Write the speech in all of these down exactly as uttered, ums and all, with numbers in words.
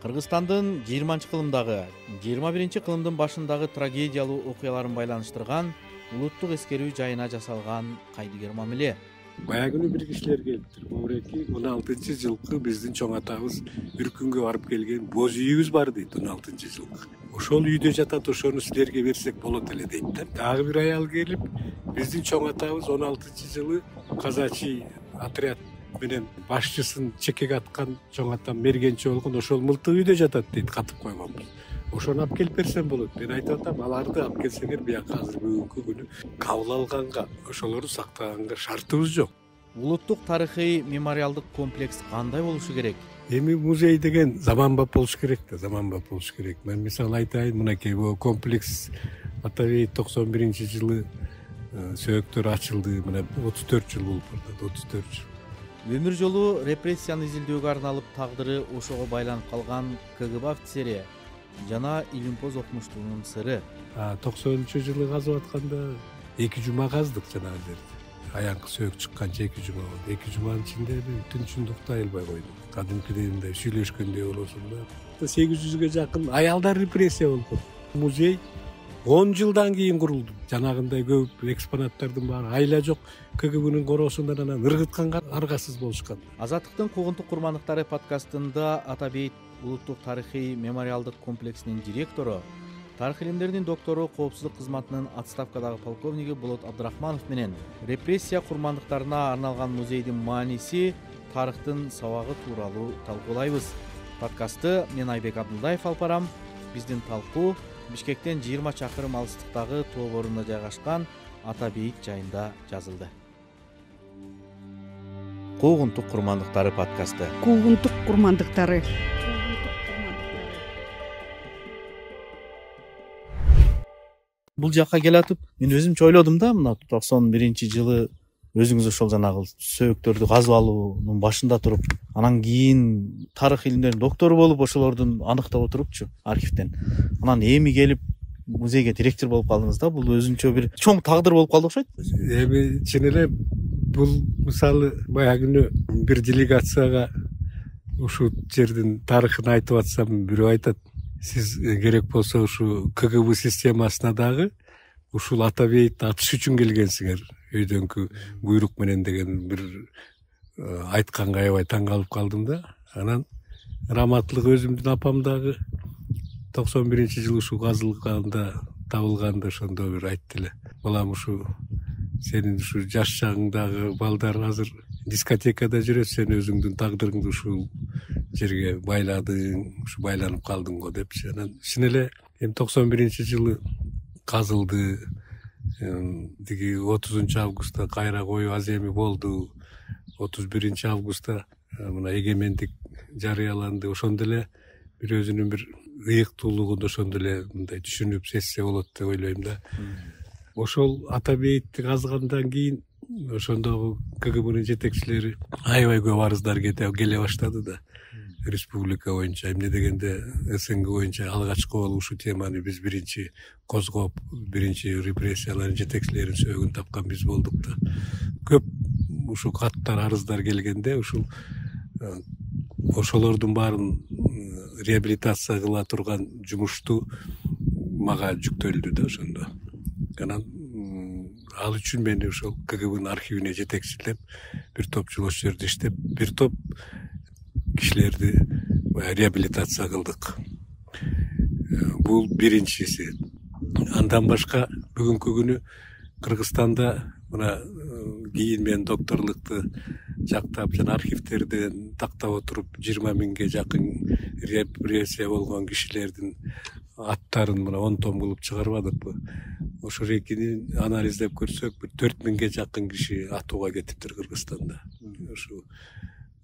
Кыргызстандын жыйырманчы кылымдагы жыйырма биринчи кылымдын башындагы трагедиялуу окуяларын байланыштырган улуттук эскерүү жайына жасалган кайдыгер мамиле. Баягы бир кишилер келиптир. Моореки он алтынчы жылкы биздин чоң атабыз Үркүнгө барып келген боз үйүбүз бар дейт. он алтынчы жылкы. Ошол үйдө жатат, ошону силерге берсек болот эле дейт да. Дагы бир аял келип, биздин чоң атабыз он алтынчы жылы казачий отряд менен башчысын чекеге аткан чоң атам мергенчи болгон ошол мылтык үйдө жатат дейт, катып койгонбуз. Ошону алып келип берсем болот. Мен айтып атам, аларды алып келсеңер бияка азыр бүгүнкү күнү кабыл алганга, ошолорду сактаганга шартыбыз жок. Улуттук тарыхый мемориалдык комплекс кандай болушу керек? Эми музей деген заманбап болуш керек да, заманбап болуш керек. Мен мисалы айтайын, мынакей бул комплекс Атабей токсон биринчи жылы сөөктөр ачылды. Мына отуз төрт жыл болуп атат, отуз төрт жыл. Өмүр жолу репрессияны изилдөөгө арналып тагдыры ошого байланып калган КГБ офицери жана илимпоз окумуштуунун сыры. токсонунчу жылы казып атканда эки жума каздык жанагы жерди. Аянкы сөөк чыкканча эки жума болду. эки жуманын ичинде түнчүндүктү айылбай койдук. Кадимкидей мындай сүйлөшкөндөй болосуң да. сегиз жүзгө жакын аялдар репрессия болду. Музей он жылдан кийин курулду. Жанагындай көп экспонаттардын баары айла жок. КГБнын короосунан анан ыргытканга аргасыз болушкан. Азаттыктын куугунтук курмандыктары подкастында Атабейт улуттук тарыхый мемориалдык комплексинин директору, тарых илимдеринин доктору, коопсуздук кызматынын отставкадагы полковниги Болот Абдрахманов менен репрессия курмандыктарына арналган музейдин мааниси, тарыхтын сабагы тууралуу талкуулайбыз. Подкастты мен Айбек Абдулдаев алып барам. Биздин талкуу Бишкектен жыйырма чакырым алыстыктагы тоо борунда жайгашкан Атабейт жайында жазылды. Куугунтук курмандыктары подкасты. Куугунтук курмандыктары. Бул жакка келатып, мен өзүмчө ойлодум да, мына токсон биринчи жылы өзүңүз ошол жанагы сөөктөрдү казып алуунун башында туруп, анан кийин тарых илимдеринин доктору болуп, ошолордун аныктап отурупчу архивден. Анан эми келип музейге директор болуп калдыңыз да. Бул өзүнчө бир чоң тагдыр болуп калды окшойт. Эми чын эле бул мисалы баягы бир делегацияга ушул жердин тарыхын айтып атсам, бирөө айтат: сиз керек болсо ушу КГБ системасына дагы ушул Атабейтти атыш үчүн келгенсиңер, өйдөнкү буйрук менен деген бир айтканга аябай таң калып калдым да. Анан раматтылык өзүмдүн апам дагы токсон биринчи жылы ушу казылганда, табылганда ошондо бир айтты эле: балам, ушу сенин ушу жаш чагыңдагы балдар азыр дискотекада жүрөт, сен өзүңдүн тагдырыңды ушул жерге байладың, ушу байланып калдың го депчи. Анан чын эле эми токсон биринчи жылы казылды. Диги отузунчу августта кайра коюу аземи болду. отуз биринчи августта мына эгемендик жарыяланды. Ошондо эле бир өзүнүн бир ыйыктуулугун ошондо эле мындай түшүнүп сезсе болот деп ойлойм да. Ошол Атабейтти казгандан кийин ошондогу КГБнын жетекчилери аябай көп арыздар келе баштады да. Республика боюнча, эмне дегенде СНГ боюнча алгачкы болуп ушу теманы биз биринчи козгоп, биринчи репрессиялардын жетекчилеринин сөөгүн тапкан биз болдук да. Көп ушу каттар, арыздар келгенде ушул ошолордун баарын реабилитация кыла турган жумушту мага жүктөлдү да ошондо. Анан ал үчүн мени ошол КГБнын архивине жетекчилеп, бир топ жыл ошол жерде иштеп, бир топ кишилерди реабилитация кылдык. Бул биринчиси. Андан башка бүгүнкү күнү Кыргызстанда мына кийин мен докторлукту жактап жана архивтерден тактап отуруп жыйырма миңге жакын репрессия болгон кишилердин аттарын мына он том кылып чыгарбадыкпы? Ошо рекини анализдеп көрсөк, бир төрт миңге жакын киши атууга кетиптир Кыргызстанда. Ушу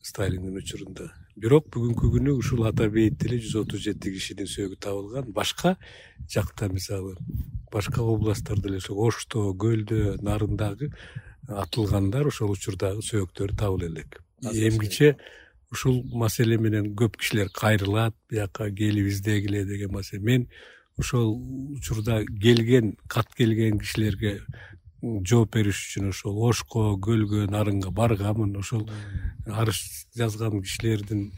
Сталиндин учурунда. Бирок бүгүнкү күнү ушул Атабейтте эле жүз отуз жети кишинин сөөгү табылган. Башка жакта, мисалы, башка областтарда эле, Ошто, Көлдө, Нарындагы атылгандар ошол учурдагы сөөктөр табыла элек. Эмгиче ушул маселе менен көп кишилер кайрылат, бияка келип издегиле деген маселе. Мен ошол учурда келген, кат келген кишилерге жооп бериш үчүн ошол Ошко, Көлгө, Нарынга барганмын. Ошол арыз жазган кишилердин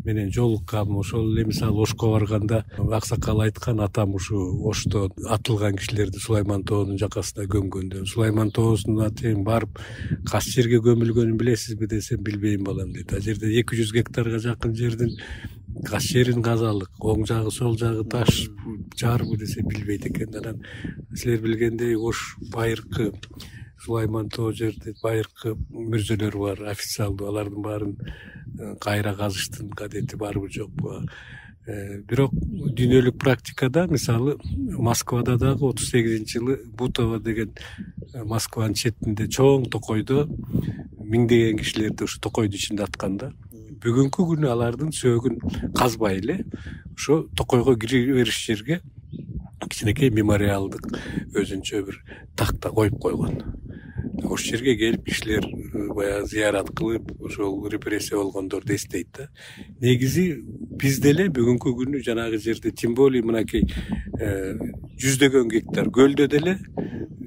менен жолуккам. Ошол эле мисалы Ошко барганда аксакал айткан, атам ушу Ошто атылган кишилерди Сулайман тоонун жакасына көмгөндө, Сулайман тоосуна чейин барып кас жерге көмүлгөнүн билесизби десем, билбейм балам дейт. А жерде эки жүз гектарга жакын жердин кас жерин казалык, оң жагы сол жагы таш жарбы десе билбейт экен. Анан силер билгендей Ош байыркы Сулайман тоо жерде байыркы мүрзөлөр бар, официалдуу, алардын баарын кайра казыштын кадети барбы жокпу. Бирок дүйнөлүк практикада мисалы Москвада дагы отуз сегизинчи жылы Бутово деген Москванын четинде чоң токойдо миңдеген кишилерди ушу токойдун ичинде атканда, бүгүнкү күнү алардын сөөгүн казбай эле ошо токойго кире бериш жерге кичинекей мемориалдык өзүнчө бир такта коюп койгон. Ошол жерге келип кишилер баягы зыярат кылып, ошол репрессия болгондорду эстейт да. Негизи биз деле бүгүнкү күнү жанагы жерде тем более мынакей жүздөгөн гектар көлдө деле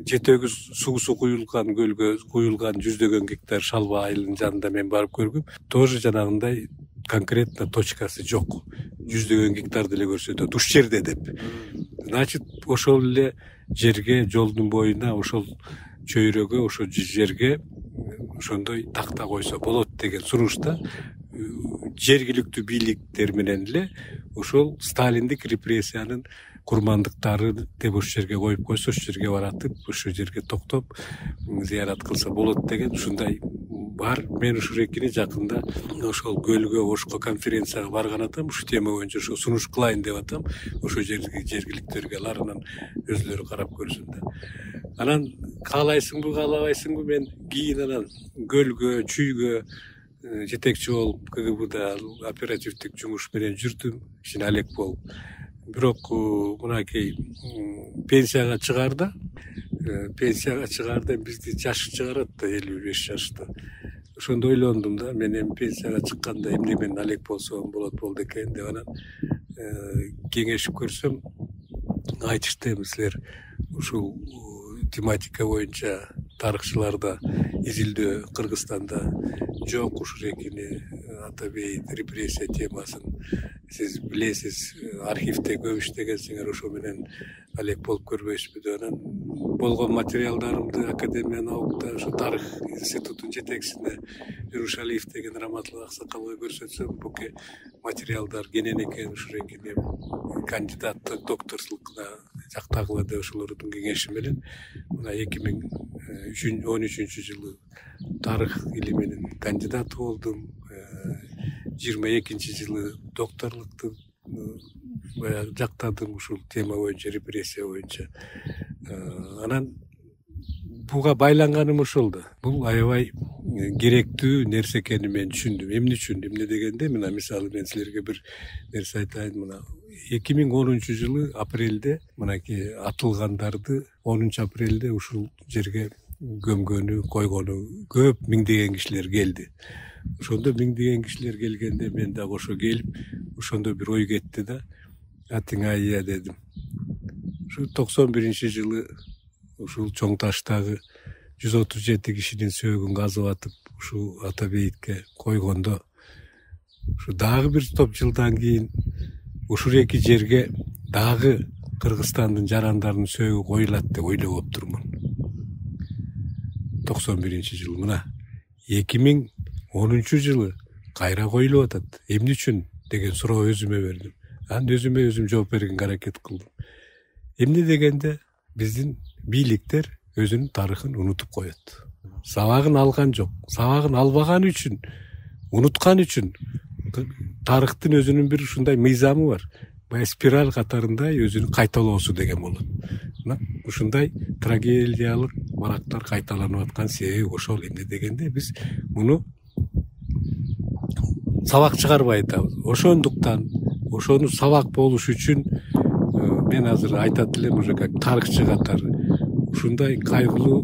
жетөгү суусу куюлган көлгө куюлган жүздөгөн гектар Шалба айылынын жанында мен барып көргөм. Тоже жанагындай конкретно точкасы жок. Жүздөгөн гектар деле көрсөтөт уш жерде деп. Значит, ошол эле жерге, жолдун боюна, ошол чөйрөгө, ошол жерге ошондой такта койсо болот деген сунушта жергиликтүү бийликтер менен эле ошол сталиндик репрессиянын курмандыктары деп ошол жерге коюп койсо, ошол жерге баратып, ошол жерге токтоп зыярат кылса болот деген ушундай бар. Мен ушул экини жакында ошол Көлгө, Ошко конференцияга барган атам, ушул тема боюнча ошо сунуш кылайын деп атам. Ошол жерге жергиликтөргө аларынан өзүлөрү карап көрсүн да. Анан каалайсыңбы, каалабайсыңбы, мен кийин анан Көлгө, Чүйгө жетекчи болуп КГБда оперативдик жумуш менен жүрдүм, кичине алек болуп. Бирок мынакей пенсияга чыгаарда, пенсияга чыгаарда бизди жаш чыгарат да, элүү беш жашта. Ошондо ойлондум да, мен эми пенсияга чыкканда эмне менен алек болсом болот болду экен деп анан кеңешип көрсөм, айтышты, силер ушул тематика боюнча тарыхчыларда изилдөө Кыргызстанда жок, ушул экини Атабейт репрессия темасын сиз билесиз, архивде көп иштегенсиңер, ошо менен алек болуп көрбөйсүзбү деп анан болгон материалдарымды Академия наукта ошо тарых институтунун жетекчисине Журушалиев деген раматтуулук аксакалга көрсөтсөм, буке материалдар кенен экен, ушул экини кандидаттык докторлукуна жактагыла деп ошолордун кеңеши менен мына эки миң он үчүнчү жылы тарых илиминин кандидаты болдум. жыйырма экинчи жылы докторлукту баягы жактадым ушул тема боюнча, репрессия боюнча. Анан буга байланганым ошол да. Бул аябай керектүү нерсе экенин мен түшүндүм. Эмне үчүн? Эмне дегенде, мына мисалы мен силерге бир нерсе айтайын. Мына эки миң онунчу жылы апрелде мынакей атылгандарды онунчу апрелде ушул жерге көмгөнү, койгону көп миңдеген кишилер келди. Ошондо миңдеген кишилер келгенде мен дагы ошо келип, ошондо бир ой кетти да. Атыңайя дедим. Ушу токсон биринчи жылы ушул чоң таштагы жүз отуз жети кишинин сөөгүн казып атып, ушул Атабейтке койгондо, ушу дагы бир топ жылдан кийин ушул эки жерге дагы Кыргызстандын жарандарынын сөөгү коюлат деп ойлоп отурмун. токсон биринчи жылы мына эки миң онунчу жылы кайра коюлуп атат. Эмне үчүн деген суроо өзүмө бердим. Анан өзүмө өзүм жооп бергенге аракет кылдым. Эмне дегенде биздин бийликтер өзүнүн тарыхын унутуп коет. Сабагын алган жок. Сабагын албаган үчүн, унуткан үчүн тарыхтын өзүнүн бир ушундай мыйзамы бар. Бая спираль катарында өзүнүн кайталоосу деген болот. Мына ушундай трагедиялык барактар кайталанып аткан себеби ошол. Эмне дегенде биз муну сабак чыгарбай атабыз. Ошондуктан ошону сабак болуш үчүн мен азыр айтат элем уже как тарыхчы катары ушундай кайгылуу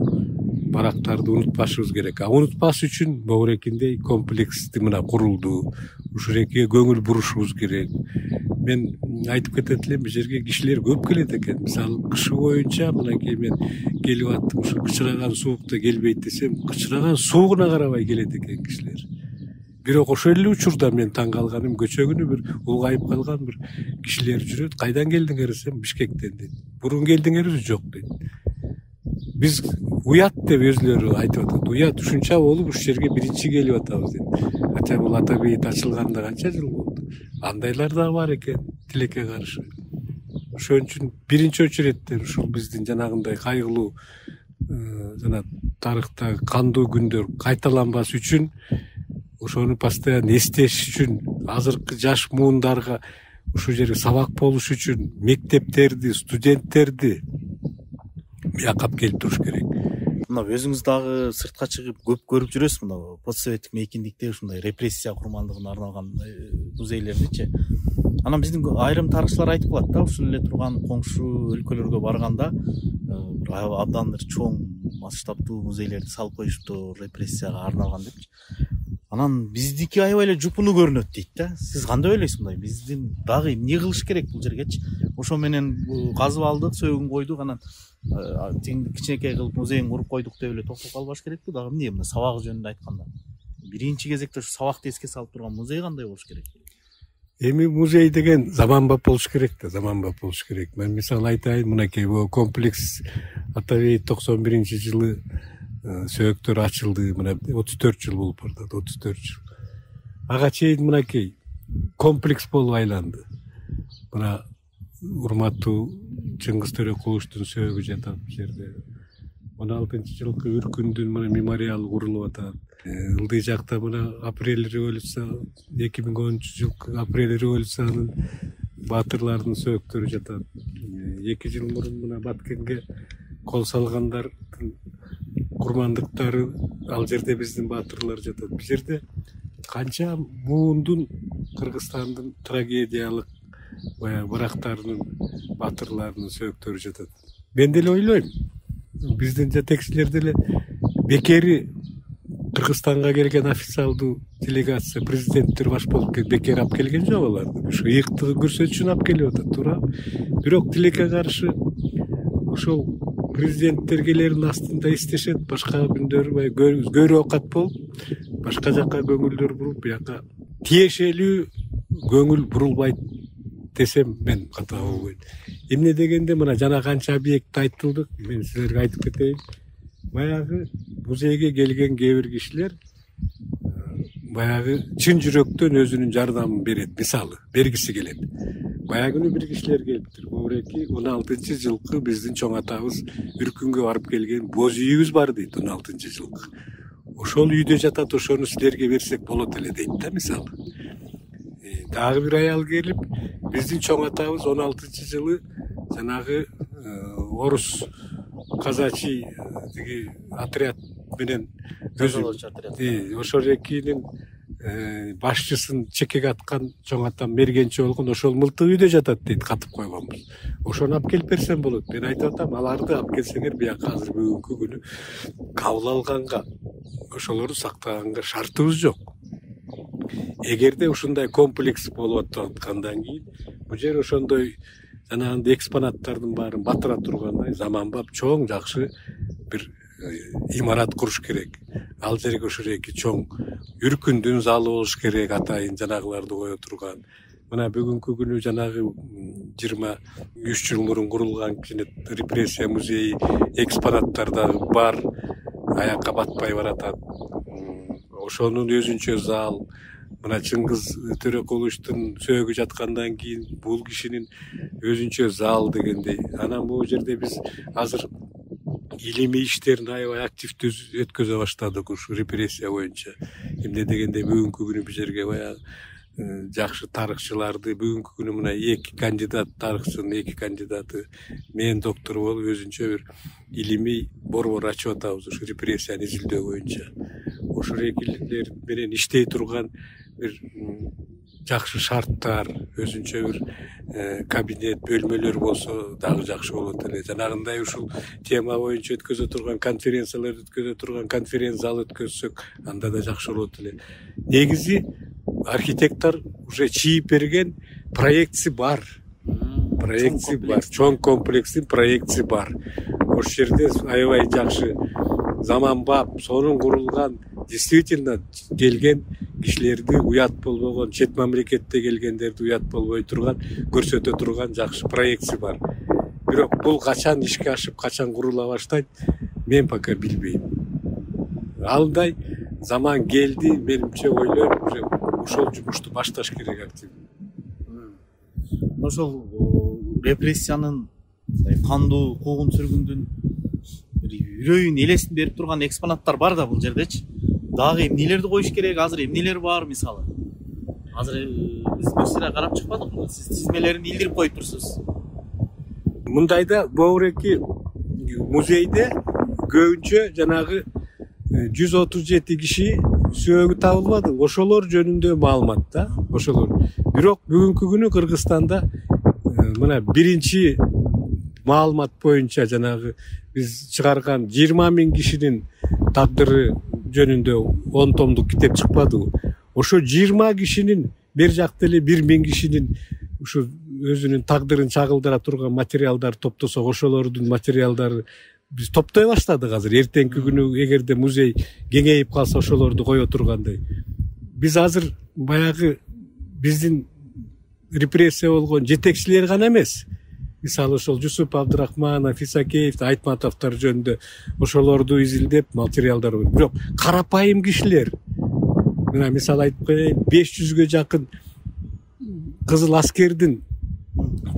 барактарды унутпашыбыз керек. А унутпаш үчүн Бобурекиндей комплексти мына курулду. Ушул экиге көңүл бурушубуз керек. мен айтып кетет элем, бул жерге кишилер көп келет экен. Мисалы кышы боюнча мынакей мен келип аттым, ушу кычыраган суукта келбейт десем, кычыраган суугуна карабай келет экен кишилер. Бирок ошол эле учурда мен таң калганым, көчө күнү бир улгайып калган бир кишилер жүрөт. Кайдан келдиңер десем, Бишкектен дейт. Бурун келдиңерби? Жок дейт. Биз уят деп өзүлөрү айтып атат. Уят ушунча болуп ушул жерге биринчи келип атабыз дейт. Хотя бул ата бейит ачылганда канча жыл болду. Андайлар да бар экен тилекке каршы. Ошон үчүн биринчи очередте ушул биздин жанагындай кайгылуу жана тарыхтагы кандуу күндөр кайталанбас үчүн, ошону постоянно эстеш үчүн, азыркы жаш муундарга ушул жерге сабак болуш үчүн мектептерди, студенттерди бияка алып келип туруш керек. Мына өзүңүз дагы сыртка чыгып көп көрүп жүрөсүз, мына постсоветтик мейкиндикте ушундай репрессия курмандыгына арналган музейлердичи. Анан биздин айрым тарыхчылар айтып калат да, ушул эле турган коңшу өлкөлөргө барганда абдан бир чоң масштабтуу музейлерди салып коюшту репрессияга арналган депчи. Анан биздики аябай эле жупуну көрүнөт дейт да. Сиз кандай ойлойсуз мындай? Биздин дагы эмне кылыш керек бул жергечи? Ошо менен казып алдык, сөөгүн койдук, анан тең кичинекей кылып музейин куруп койдук деп эле токтоп калбаш керекпи? Дагы эмне мына сабак жөнүндө айтканда? Биринчи кезекте ушу сабакты эске салып турган музей кандай болуш керек? Эми музей деген заманбап болуш керек да, заманбап болуш керек. Мен мисалы айтайын, мынакей комплекс ата бейит токсон биринчи жылы сөөктөр ачылды. Мына отуз төрт жыл болуп бардат, отуз төрт жыл. Ага чейин мынакей комплекс болуп айланды. Мына урматтуу Чыңгыз Төрөкуловдун сөөгү жатат бул жерде. он алтынчы жылкы үркүндүн мына мемориалы курулуп атат. Ылдый жакта мына апрель революция, эки миң онунчу жылкы апрель революциянын баатырларынын сөөктөрү жатат. эки жыл мурун мына Баткенге кол салгандардын курмандыктары, ал жерде биздин баатырлар жатат. Бул жерде канча муундун, Кыргызстандын трагедиялык баягы барактарынын, баатырларынын сөөктөрү жатат. Мен деле ойлойм, биздин жетекчилер деле бекери Кыргызстанга келген официалдуу делегация, президенттер баш болуп келип бекер алып келген жок аларды. Ушу ыйыктыгын көрсөтүш үчүн алып келип атат, туурабы? Бирок тилекке каршы ошол президенттер келерин астында эстешет, башка күндөрү баягы көрү окат болуп, башка жака көңүлдөр буруп, бияка тиешелүү көңүл бурулбайт десем мен ката болбойт. Эмне дегенде мына жана канча объект айтылды, мен силерге айтып кетейин. Баягы музейге келген кээ бир кишилер баягы чын жүрөктөн өзүнүн жардамын берет, мисалы бергиси келет. Баягы бир кишилер келиптир. Бобуреки он алтынчы жылкы биздин чоң атабыз Үркүнгө барып келген боз үйүбүз бар дейт, он алтынчы жылкы. Ошол үйдө жатат, ошону силерге берсек болот эле дейт да, мисалы. Дагы бир аял келип, биздин чоң атабыз он алтынчы жылы жанагы орус казачий тиги отряд менен ошол экинин башчысын чекеге аткан чоң атам мергенчи болгон, ошол мылтык үйдө жатат дейт, катып койгонбуз. Ошону алып келип берсем болот. Мен айтып атам, аларды алып келсеңер бияка азыр бүгүнкү күнү кабыл алганга, ошолорду сактаганга шартыбыз жок. Эгерде ушундай комплекс болуп аткандан кийин, бул жер ошондой жанагындай экспонаттардын баарын батыра тургандай заманбап чоң жакшы бир имарат куруш керек. Ал жерге ошол эки чоң Үркүндүн залы болуш керек, атайын жанагыларды кое турган. Мына бүгүнкү күнү жанагы жыйырма үч жыл мурун курулган кичине репрессия музейи экспонаттар дагы бар, аякка батпай баратат. Ошонун өзүнчө зал, мына Чыңгыз Төрөкуловдун сөөгү жаткандан кийин бул кишинин өзүнчө зал дегендей. Анан бул жерде биз азыр илимий иштерин аябай активдүү өткөзө баштадык ушу репрессия боюнча. Эмне дегенде бүгүнкү күнү бул жерге баягы жакшы тарыхчыларды, бүгүнкү күнү мына эки кандидат, тарыхчынын эки кандидаты, мен доктор болуп өзүнчө бир илимий борбор ачып атабыз ушу репрессияны изилдөө боюнча. Ошол экилер менен иштей турган бир жакшы шарттар, өзүнчө бир кабинет, бөлмөлөр болсо дагы жакшы болот эле. Жанагындай ушул тема боюнча өткөзө турган конференциялар өткөзө турган конференц зал өткөзсөк, анда да жакшы болот эле. Негизи архитектор уже чийип берген проектisi бар. Проектisi бар. Чоң комплекстин проектisi бар. Ошол жерде аябай жакшы заманбап, сонун курулган, действительно келген кишилерди уят болбогон, чет мамлекетте келгендерди уят болбой турган, көрсөтө турган жакшы проектisi бар. Бирок бул качан ишке ашып, качан курула баштайт, мен пока билбейм. Андай заман келди, менимче ойлойм, уже ошол жумушту башташ керек активдүү. Ошол репрессиянын, кандуу куугун сүргүндүн үрөйүн элесин берип турган экспонаттар бар да бул жердечи. Дагы эмнелерди коюш керек? Азыр эмнелер бар мисалы? Азыр биз бир сыра карап чыкпадыкпы? Сиз тизмелерин илдирип коюп турсуз. Мындайда Боуреки музейде көбүнчө жанагы жүз отуз жети киши сөөгү табылбады. Ошолор жөнүндө маалымат да, ошолор. Бирок бүгүнкү күнү Кыргызстанда мына биринчи маалымат боюнча жанагы биз чыгарган жыйырма миң кишинин тагдыры жөнүндө он томдук китеп чыкпадыбы? Ошо жыйырма кишинин бер жакта эле бир миң кишинин ушу өзүнүн тагдырын чагылдыра турган материалдар топтосок, ошолордун материалдары биз топтой баштадык азыр. Эртеңки күнү эгерде музей кеңейип калса ошолорду кое тургандай. Биз азыр баягы биздин репрессия болгон жетекчилер гана эмес. Мисалы ошол Жусуп Абдрахманов, Исакеев, Айтматовдор жөнүндө ошолорду изилдеп материалдар бар. Бирок карапайым кишилер, мына мисалы айтып коеюн, беш жүзгө жакын кызыл аскердин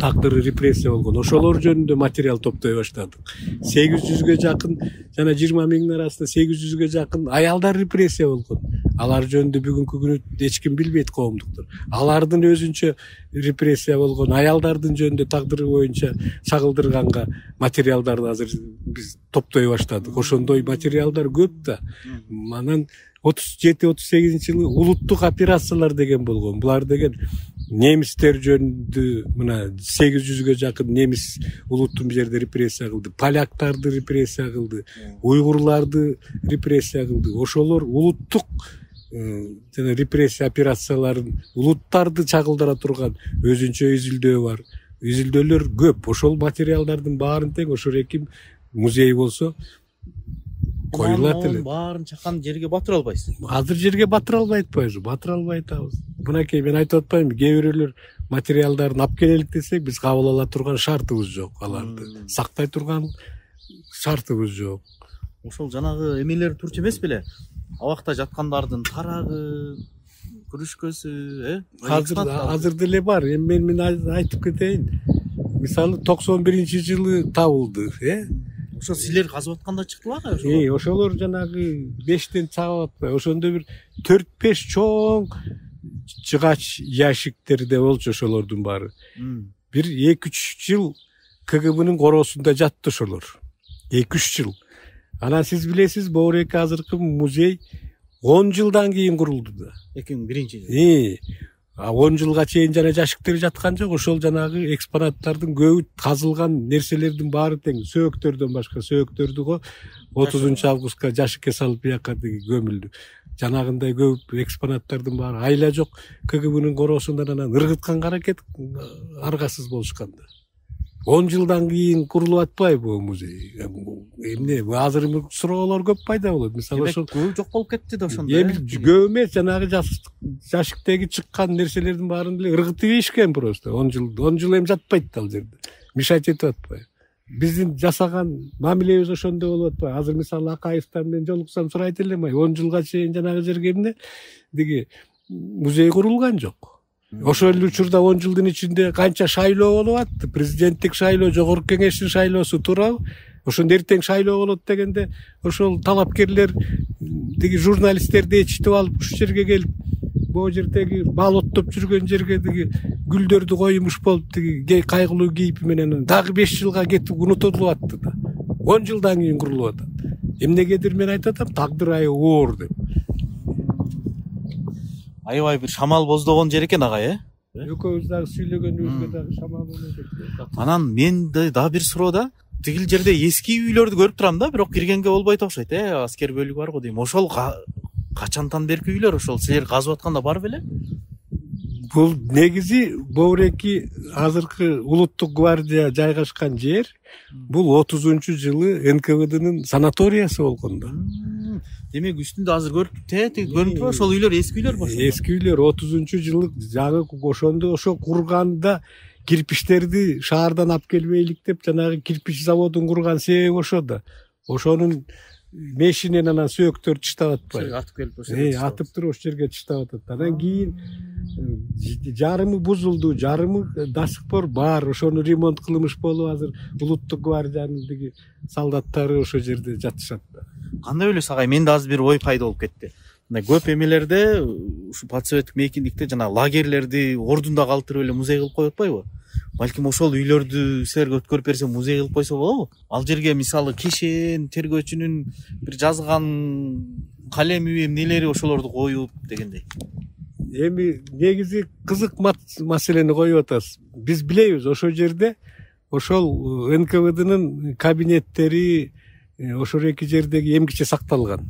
тагдыры репрессия болгон. Ошолор жөнүндө материал топтой баштадык. сегиз жүзгө жакын, жана жыйырма миңдин арасында сегиз жүзгө жакын аялдар репрессия болгон. Алар жөнүндө бүгүнкү күнү эч ким билбейт, коомдуктар. Алардын өзүнчө репрессия болгон, аялдардын жөнүндө тагдыры боюнча чагылдырганга материалдарды азыр биз топтой баштадык. Ошондой материалдар көп да. Анан отуз жети отуз сегизинчи жылы улуттук операциялар деген болгон. Булар деген немистер жөнүндө мына сегиз жүзгө жакын немис улуттун бул жерде репрессия кылды. Поляктарды репрессия кылды, уйгурларды репрессия кылды. Ошолор улуттук жана репрессия операцияларын улуттарды чагылдыра турган өзүнчө изилдөө бар. Изилдөөлөр көп. Ошол материалдардын баарын тең ошол эки музей болсо коюлат эле. Баарын чакан жерге батыра албайсыз. Азыр жерге батыра албай атпайбыз, батыра албай атабыз. Мынакей мен айтып атпаймынбы, кээ бирөөлөр материалдарын алып келелик десек, биз кабыл ала турган шартыбыз жок, аларды сактай турган шартыбыз жок. Ошол жанагы эмелер турчу эмес беле? Абакта жаткандардын тарагы, күрүшкөсү, э? Азыр азыр деле бар. Эми мен мен айтып кетейин. Мисалы токсон биринчи жылы табылды, э? Ошо силер казып атканда чыктыбы ага? Э, ошолор жанагы бештен чагып атпай, ошондо бир төрт беш чоң жыгач ящиктерде болчу ошолордун баары. Бир эки үч жыл КГБнын короосунда жатты ошолор. эки үч жыл. Анан сиз билесиз, Боуреки азыркы музей он жылдан кийин курулду да. эки миң биринчи жыл. Э, он жылга чейин жана жашиктер жаткан жок. Ошол жанагы экспонаттардын көбү казылган нерселердин баары тең. Сөөктөрдөн башка, сөөктөрдү го отузунчу августка жашикке салып бияка көмүлдү. Жанагындай көп экспонаттардын баары айла жок. КГБнын короосундан анан ыргытканга аракет аргасыз болушкан да. он жылдан кийин курулуп атпайбы бул музей? Эмне, азыр суроолор көп пайда болот. Мисалы ошол көп жок болуп кетти да ошондо. Эми көп эмес, жанагы жашиктеги чыккан нерселердин баарын деле ыргытып ийишкен просто. он жыл, он жыл эми жатпайт да ал жерде. Мешать этип атпайбы? Биздин жасаган мамилебиз ошондой болуп атпайбы? Азыр мисалы Акаевтан мен жолуксам сурайт элем, он жылга чейин жанагы жерге эмне деги музей курулган жок. Ошол эле учурда он жылдын ичинде канча шайлоо болуп атты? Президенттик шайлоо, жогорку кеңештин шайлоосу туурабы? Ошондо эртең шайлоо болот дегенде ошол талапкерлер деги журналисттерди ээрчитип алып ушул жерге келип, бул жердеги мал оттоп жүргөн жерге деги гүлдөрдү коюмуш болуп деги кайгылуу кейип менен дагы беш жылга кетип унутулуп атты да. он жылдан кийин курулуп атат. Эмнегедир мен айтып атам, тагдыр аябай оор деп. Аябай бир шамал боздогон жер экен ага, э? Экөөбүз дагы сүйлөгөнүбүзгө дагы шамал болот. Анан мен дагы бир суроо да, тигил жерде эски үйлөрдү көрүп турам да, бирок киргенге болбойт окшойт, э? Аскер бөлүгү бар го дейм. Ошол качантан берки үйлөр ошол силер казып атканда бар беле? бул негизи Боуреки азыркы улуттук гвардия жайгашкан жер бул отузунчу жылы эн ка вэ дынын санаториясы болгон да. Демек үстүндө азыр көрүп тети көрүнүп турбайбы? Ошол үйлөр эски үйлөр башында. Эски үйлөр отузунчу жылы жаңы ошондо ошо курганда кирпичтерди шаардан алып келбейлик деп жанагы кирпич заводун курган себеби ошо да. Ошонун мешинен анан сөөктөр чыштап атпайбы? Атып келип ошо. Э, атып туруп ошол жерге чыштап атат. Анан кийин жарымы бузулду, жарымы до сих пор бар. Ошону ремонт кылмыш болуп азыр улуттук гвардиянын тиги солдаттары ошол жерде жатышат да. Кандай ойлойсуз агай? Менде азыр бир ой пайда болуп кетти. Мындай көп эмелерде ушу подсоветтик мейкиндикте жана лагерлерди ордунда калтырып эле музей кылып коюп атпайбы? Балким ошол үйлөрдү силерге өткөрүп берсе музей кылып койсо болобу? Ал жерге мисалы кишен, тергөөчүнүн бир жазган калеми, эмнелери ошолорду коюп дегендей. Эми негизи кызык маселени коюп атасыз. Биз билебиз ошол жерде ошол эн ка вэ дынын кабинеттери ошол эки жердеги эмгиче сакталган.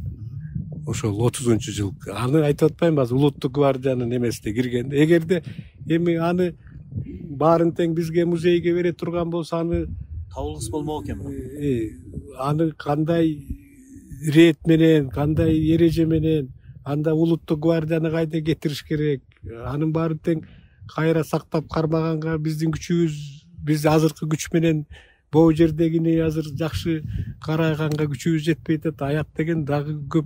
Ошол отузунчу жыл. Аны айтып атпаймынбы азыр улуттук гвардиянын эмесине киргенде. Эгерде эми аны баарын тең бизге музейге бере турган болсо аны табылгыс болмок экен. Аны кандай рет менен, кандай эреже менен, анда улуттук гвардияны кайда кетириш керек? Анын баарын тең кайра сактап кармаганга биздин күчүбүз, биз азыркы күч менен бул жердегини азыр жакшы караганга күчүбүз жетпей атат. Аят деген дагы көп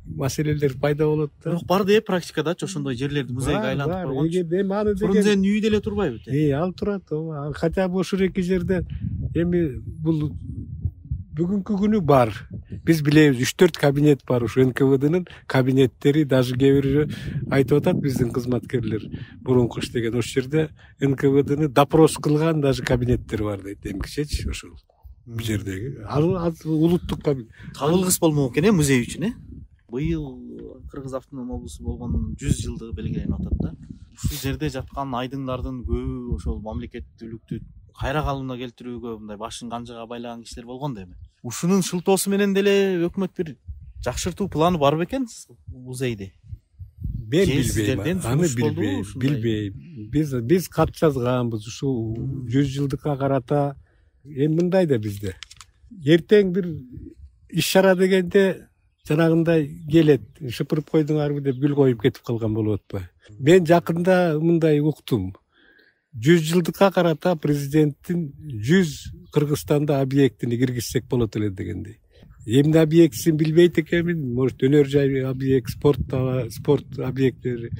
маселелер пайда болот да. Бирок бар деп практикадачы ошондой жерлерди музейге айлантып койгон. Эгерде эми аны деген Фрунзенин үйү деле турбайбы? Э, ал турат. Хотя бы ошол эки жерде эми бул бүгүнкү күнү бар. Биз билебиз үч төрт кабинет бар ушу эн ка вэ дынын кабинеттери, даже кээ бири айтып атат биздин кызматкерлер мурунку иштеген ошол жерде эн ка вэ дыны допрос кылган даже кабинеттер бар дейт эмгичечи ошол бул жердеги. Ал улуттук кабинет. Табылгыс болмок экен э музей үчүн э. Быйыл Кыргыз автоном облусу болгон жүз жылдыгы белгиленип атат да. Ушул жерде жаткан айдыңдардын көбү ошол мамлекеттүүлүктү кайра калыбына келтирүүгө мындай башын канжыга байлаган кишилер болгон да эми. Ушунун шылтоосу менен деле өкмөт бир жакшыртуу планы бар бекен музейди? Мен билбейм, аны билбейм, билбейм. Биз биз кат жазганбыз ушул жүз жылдыкка карата. Эми мындай да бизде. Эртең бир иш чара дегенде жанагындай келет, шыпырып койдуңарбы деп гүл коюп кетип калган болуп атпайбы? Мен жакында мындай уктум. жүз жылдыкка карата президенттин жүз Кыргызстанда объектини киргизсек болот эле дегендей. Эмне объектисин билбейт экенмин, может өнөр жай объект, спорт спорт объекттери,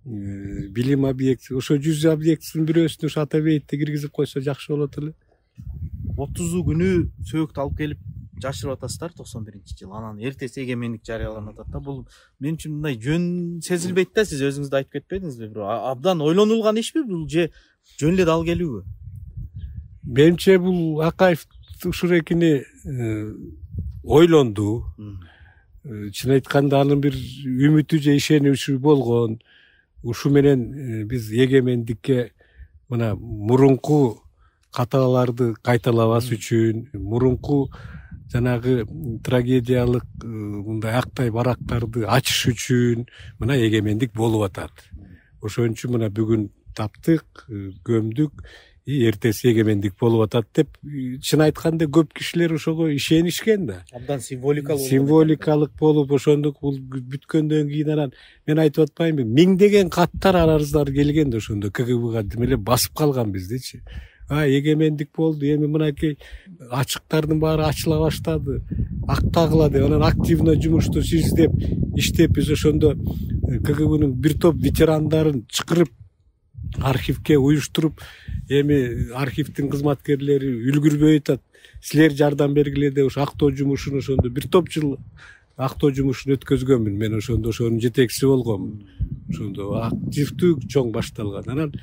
билим объекти. Ошо жүз объектисинин бирөөсүнө ушу ата бейитти киргизип койсо жакшы болот эле. отузу күнү сөөктү алып келип жашырып атасыздар токсон биринчи жыл. Анан эртеси эгемендик жарыяланып атат да. Бул мен үчүн мындай жөн сезилбейт да. Сиз өзүңүз да айтып кетпедиңизби? Бирок абдан ойлонулган ишпи бул же жөн эле дал келүүбү? Менимче бул Акаев ушурекини ойлонду. Чын айтканда анын бир үмүтү же ишеничи болгон. Ушу менен биз эгемендикке мына мурунку каталарды кайталабас үчүн, мурунку жанагы трагедиялык мындай актай барактарды ачыш үчүн мына эгемендик болуп атат. Ошон үчүн мына бүгүн таптык, көмдүк, эртеси эгемендик болуп атат деп чын айтканда көп кишилер ошого ишенишкен да. Абдан символикалык символикалык болуп ошондук бул бүткөндөн кийин анан мен айтып атпаймынбы, миңдеген каттар арыздар келген да ошондо ка гэ бга демеле басып калган биздичи. А эгемендик болду, эми мынакей ачыктардын баары ачыла баштады, актагыла деп анан активно жумушту издеп иштеп биз ошондо ка гэ бнын бир топ ветерандарын чакырып архивке уюштуруп, эми архивдин кызматкерлери үлгүрбөй атат. Силер жардам бергиле деп ошо актоо жумушун ошондо бир топ жыл актоо жумушун өткөзгөнмүн. Мен ошондо ошонун жетекчиси болгомун. Ошондо активдүү чоң башталган. Анан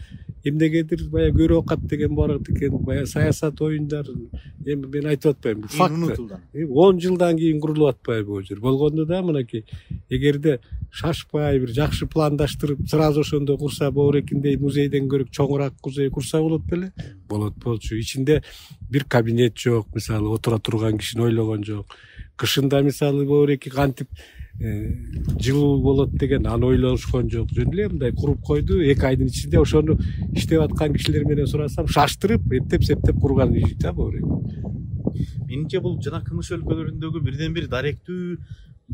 эмнегедир баягы көрө окат деген бар экен, баягы саясат оюндар. Эми мен айтып атпайм, бул факт. он жылдан кийин курулуп атпайбы бул жер. Болгондо да мынакей эгерде шашпай бир жакшы пландаштырып, сразу ошондо курса Боурекиндей музейден көрө чоңураак музей курса болот беле? Болот болчу. Ичинде бир кабинет жок, мисалы отура турган кишини ойлогон жок. Кышында мисалы Боуреки кантип жылуу болот деген аны ойлошкон жок. Жөн эле мындай куруп койду, эки айдын ичинде ошону иштеп аткан кишилер менен сурасам, шаштырып, эптеп септеп курган үй да бул. Менимче бул жана Кымыш өлкөлөрүндөгү бирден бир даректүү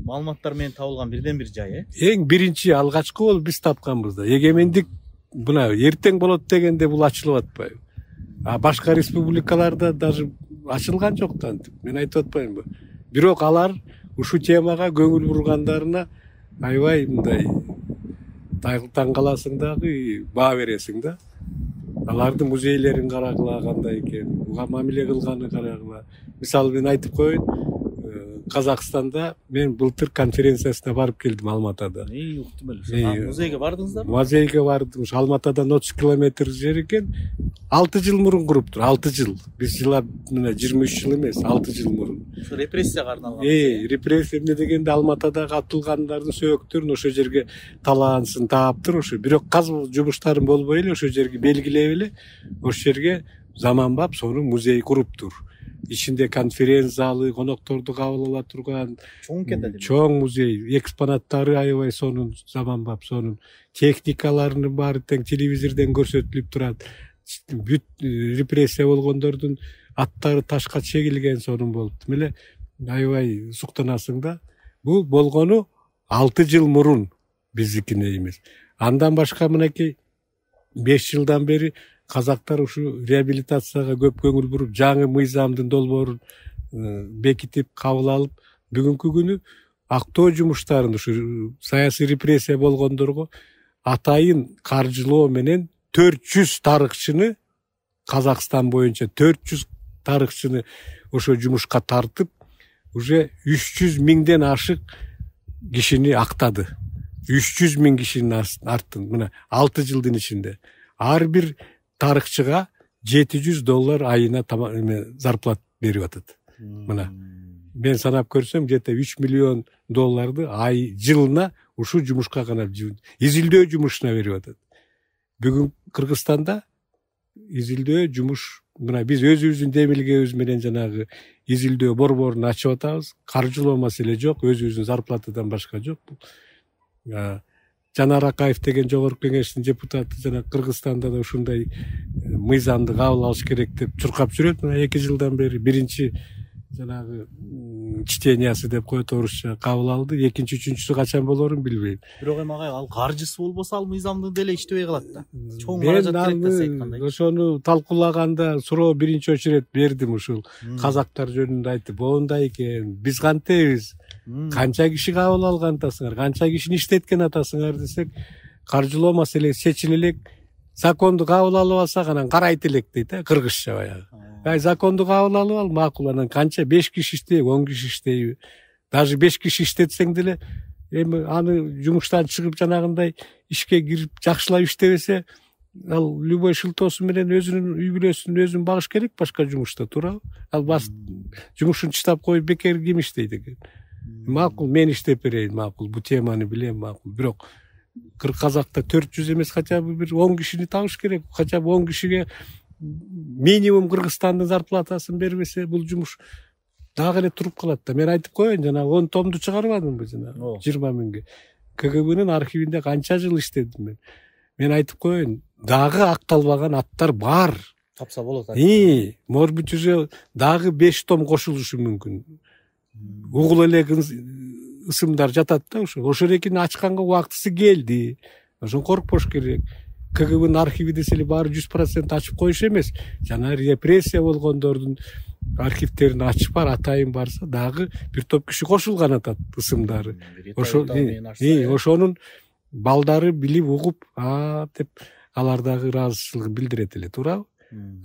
маалыматтар менен табылган бирден бир жай, э? Эң биринчи алгачкы болуп биз тапканбыз да. Эгемендик мына эртең болот дегенде бул ачылып атпайбы? А башка республикаларда даже ачылган жок да антип. Мен айтып атпаймынбы? Бирок алар ушул темага көңүл бургандарына аябай мындай таң каласың дагы, баа бересиң да. Алардын музейлерин карагыла кандай экен, буга мамиле кылганы карагыла. Мисалы мен айтып коеюн, Казакстанда мен былтыр конференциясына барып келдим Алматада. Эй, уктум эле. Музейге бардыңыздарбы? Музейге бардым. Ушу Алматадан отуз километр жер экен. алты жыл мурун куруптур, алты жыл. Биз жылап мына жыйырма үч жыл эмес, алты жыл мурун. Ушу репрессияга арналган. Э, репрессия эмне дегенде Алматадагы атылгандардын сөөктөрүн ошол жерге талаансын тааптыр ошо. Бирок казуу жумуштарын болбой эле ошол жерге белгилеп эле ошол жерге заманбап сонун музей куруптур. Ичинде конференц залы, конокторду кабыл ала турган чоң экен да. Чоң музей, экспонаттары аябай сонун, заманбап сонун. Техникаларынын баары тең телевизордон көрсөтүлүп турат. Бүт репрессия болгондордун аттары ташка чегилген сонун болуп. Меле аябай суктанасың да. Бул болгону алты жыл мурун биздикине эмес. Андан башка мынакей беш жылдан бери казактар ушу реабилитацияга көп көңүл буруп, жаңы мыйзамдын долбоорун бекитип, кабыл алып, бүгүнкү күнү актоо жумуштарын ушу саясий репрессия болгондорго атайын каржылоо менен төрт жүз тарыхчыны, Казакстан боюнча төрт жүз тарыхчыны ошо жумушка тартып, уже үч жүз миңден ашык кишини актады. үч жүз миң кишинин арттын мына алты жылдын ичинде. Ар бир тарыхчыга жети жүз доллар айына зарплат берип атат. Мына мен санап көрсөм, где-то үч миллион долларды ай жылына ушул жумушка гана изилдөө жумушуна берип атат. Бүгүн Кыргызстанда изилдөө жумуш, мына биз өзүбүздүн демилгебиз менен жанагы изилдөө борборун ачып атабыз. Каржылоо маселе жок, өзүбүздүн зарплатадан башка жок. Жанар Акаев деген жогорку кеңештин депутаты жана Кыргызстанда да ушундай мыйзамды кабыл алыш керек деп чуркап жүрөт. Мына эки жылдан бери биринчи жанагы чтениясы деп коет орусча кабыл алды. Экинчи, үчүнчүсү качан болорун билбейм. Бирок эми агай ал каржысы болбосо ал мыйзамды деле иштебей калат да. Чоң каражат керек да айткандай. Ошону талкуулаганда суроо биринчи очередь бердим ушул казактар жөнүндө айтып, моундай экен, биз кантебиз? Канча киши кабыл алган атасыңар, канча кишини иштеткен атасыңар десек, каржылоо маселеси чечиле элек, законду кабыл алып алсак анан карайт элек дейт, э, кыргызча баягы. Ай законду кабыл алып ал, макул, анан канча беш киши иштейби, он киши иштейби? Даже беш киши иштетсең деле, эми аны жумуштан чыгып жанагындай ишке кирип жакшылап иштебесе, ал любой шылтоосу менен өзүнүн үй бүлөсүн өзүн багыш керек башка жумушта, туурабы? Ал бас жумушун чыдап коюп бекер ким иштейт экен? Макул, мен иштеп берейин, макул, бул теманы билем, макул. Бирок Казакта төрт жүз эмес, хотя бы бир он кишини табыш керек. Хотя бы он кишиге минимум Кыргызстандын зарплатасын бербесе, бул жумуш дагы эле туруп калат да. Мен айтып коеюн, жана он томду чыгарбадымбы жана жыйырма миңге. КГБнын архивинде канча жыл иштедим мен. Мен айтып коеюн, дагы акталбаган аттар бар. Тапса болот. И, может быть, уже дагы беш том кошулушу мүмкүн. Угул эле ысымдар жатат да ошо. Ошол экини ачканга убактысы келди. Ошон коркпош керек. КГБнын архиви десе эле баары жүз процент ачып коюш эмес. Жана репрессия болгондордун архивтерин ачып бар, атайын барса, дагы бир топ киши кошулган атат ысымдары. Ошо ошонун балдары билип угуп, а деп алар дагы ыраазычылыгын билдирет эле, туурабы?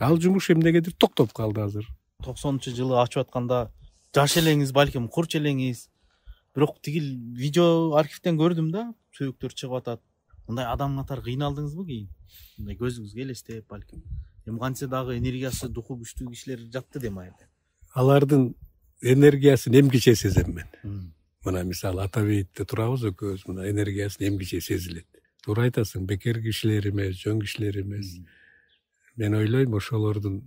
Ал жумуш эмнегедир токтоп калды азыр. токсонунчу жылы ачып атканда жаш элеңиз, балким курч элеңиз. Бирок тигил видео архивден көрдүм да, сөөктөр чыгып атат. Мындай адам катары кыйналдыңызбы кийин? Мындай көзүңүзгө элестеп, балким. Эми кантсе дагы энергиясы, духу күчтүү кишилер жатты дем айылда. Алардын энергиясын эмгиче сезем мен. Мына мисалы Атабейитте турабыз экөөбүз, мына энергиясын эмгиче сезилет. Туура айтасың, бекер кишилер эмес, жөн кишилер эмес. Мен ойлойм, ошолордун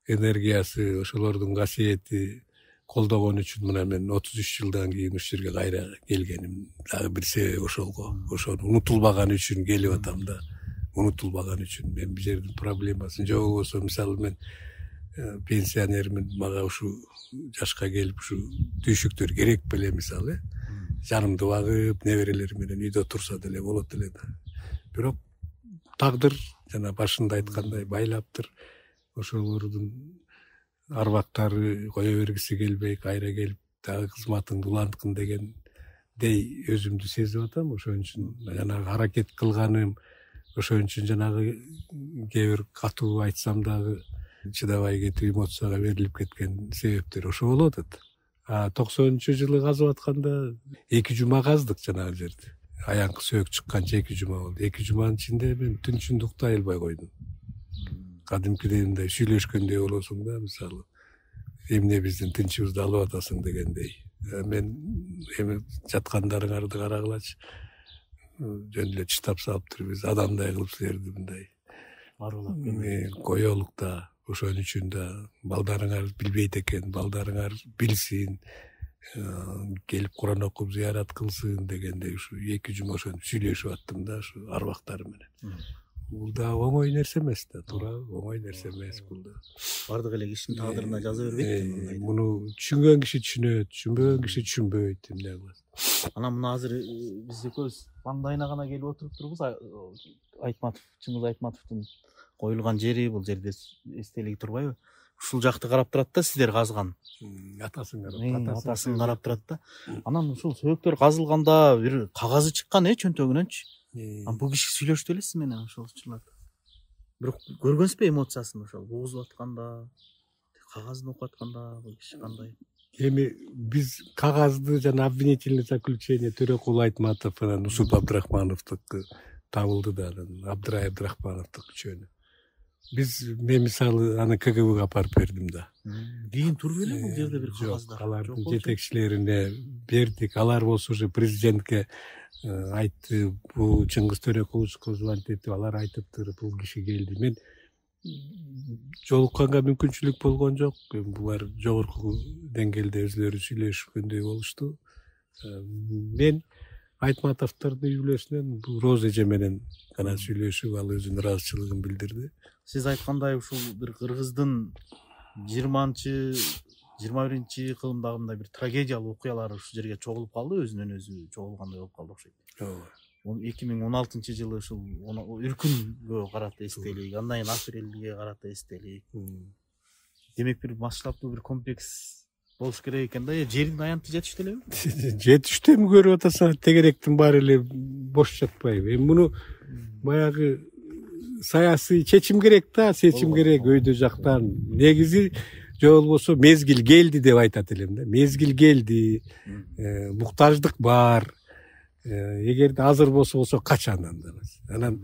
энергиясы, ошолордун касиети колдогон үчүн мына мен отуз үч жылдан кийин ушул жерге кайра келгеним дагы бир себеби ошол го. Ошону унутулбаган үчүн келип атам да. Унутулбаган үчүн мен бул жердин проблемасын же болбосо мисалы мен пенсионермин, мага ушу жашка келип ушу түйшүктөр керек беле мисалы. Жанымды багып, неберелер менен үйдө турса деле болот эле да. Бирок тагдыр жана башында айткандай байлаптыр. Ошолордун арбактары кое бергиси келбей, кайра келип дагы кызматыңды уланткын дегендей өзүмдү сезип атам. Ошон үчүн жанагы аракет кылганым, ошон үчүн жанагы кээ бир катуу айтсам дагы чыдабай кетип эмоцияга берилип кеткен себептер ошо болуп атат. А токсонунчу жылы казып атканда эки жума каздык жанагы жерди. Аянкы сөөк чыкканча эки жума болду. эки жуманын ичинде мен түн ичинде уктай албай койдум. Кадимкидей мындай сүйлөшкөндөй болосуң да, мисалы эмне биздин тынчыбызды алып атасың дегендей. Мен эми жаткандарыңарды карагылачы. Жөн эле чыдап салыптыр, биз адамдай кылып силерди мындай коелук да. Ошон үчүн да балдарыңар билбейт экен, балдарыңар билсин, келип Куран окуп зыярат кылсын дегендей ушу эки жума ошентип сүйлөшүп аттым да ушу арбактар менен. Бул да оңой нерсе эмес да, туура оңой нерсе эмес бул да. Бардык эле кишинин тагдырына жаза бербейт мындай. Муну түшүнгөн киши түшүнөт, түшүнбөгөн киши түшүнбөйт, эмне кыласың. Анан мына азыр биз экөөбүз маңдайына гана келип отуруп турбуз. Айтматов, Чыңгыз Айтматовдун коюлган жери, бул жерде эстелиги турбайбы? Ушул жакты карап турат да, сиздер казган. Атасын карап, атасын карап турат да. Анан ушул сөөктөр казылганда бир кагазы чыккан э чөнтөгүнөнчү. Анан бул киши сүйлөштү эле сиз менен ошол учурларда. Бирок көргөнсүзбү эмоциясын ошол угузуп атканда, кагазын окуп атканда бул киши кандай? Эми биз кагазды жана обвинительное заключение Төрөкул Айтматов анан Усуп Абдрахмановдуку табылды да, Абдрай Абдрахмановдук үчөөнү. Биз мен мисалы аны ка гэ бэге апарып бердим да. Кийин туруп эле бул жерде бир кагаздар. Алардын жетекчилерине бердик. Алар болсо уже президентке айтты, бул Чыңгыз Төрөкуловичке звонить этип, алар айтыптыр, бул киши келди. Мен жолукканга мүмкүнчүлүк болгон жок. Булар жогорку деңгээлде өзлөрү сүйлөшкөндөй болушту. Мен Айтматовдордун үй бүлөсүнөн бул Роза эже менен гана сүйлөшүп, ал өзүнүн ыраазычылыгын билдирди. Сиз айткандай ушул бир кыргыздын жыйырманчы жыйырма биринчи кылымдагындай бир трагедиялуу окуялары ушул жерге чогулуп калды, өзүнөн өзү чогулгандай болуп калды окшойт. Ооба. эки миң он алтынчы жылы ушул үркүнгө карата эстелик, андан кийин апрелге карата эстелик. Демек бир масштабдуу бир комплекс болуш керек экен да. Жердин аянты жетиштүү элеби? Жетиштүү, эми көрүп атасың, тегеректин баары эле бош жатпайбы. Эми муну баягы саясий чечим керек да, чечим керек өйдө жактан. Негизи же болбосо мезгил келди деп айтат элем да. Мезгил келди, муктаждык бар. Эгерде азыр болсо болсо качандан да. Анан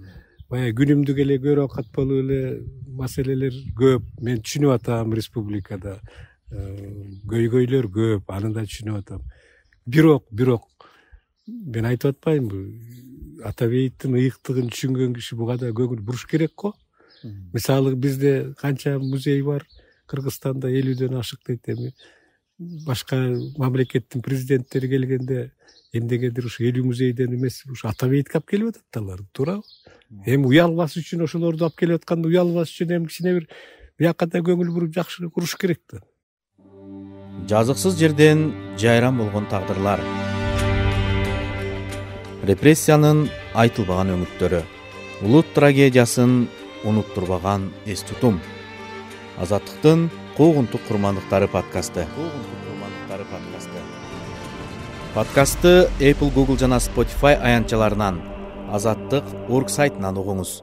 баягы күнүмдүк эле көрүп катпалуу эле маселелер көп. Мен түшүнүп атам, республикада көйгөйлөр көп, аны да түшүнүп атам. Бирок, бирок мен айтып атпаймынбы? Атабейтин ыйыктыгын түшүнгөн киши буга да көңүл буруш керек го. Мисалы бизде канча музей бар, Кыргызстанда элүүдөн ашык дейт. Эми башка мамлекеттин президенттери келгенде эмнегедир ушу элүү музейден эмес, ушу Атабейтке алып келип атат алар, туурабы? Эми уялбас үчүн ошолорду алып келип атканда уялбас үчүн эми кичине бир биякка да көңүл буруп жакшы куруш керек да. Жазыксыз жерден жайран болгон тагдырлар. Репрессиянын айтылбаган өңүттөрү. Улут трагедиясын унуттурбаган эс тутум. Азаттыктын куугунтук курмандыктары подкасты. Куугунтук курмандыктары подкасты. Подкастты Apple, Google жана Spotify аянтчаларынан, Азаттык точка орг сайтынан угуңуз.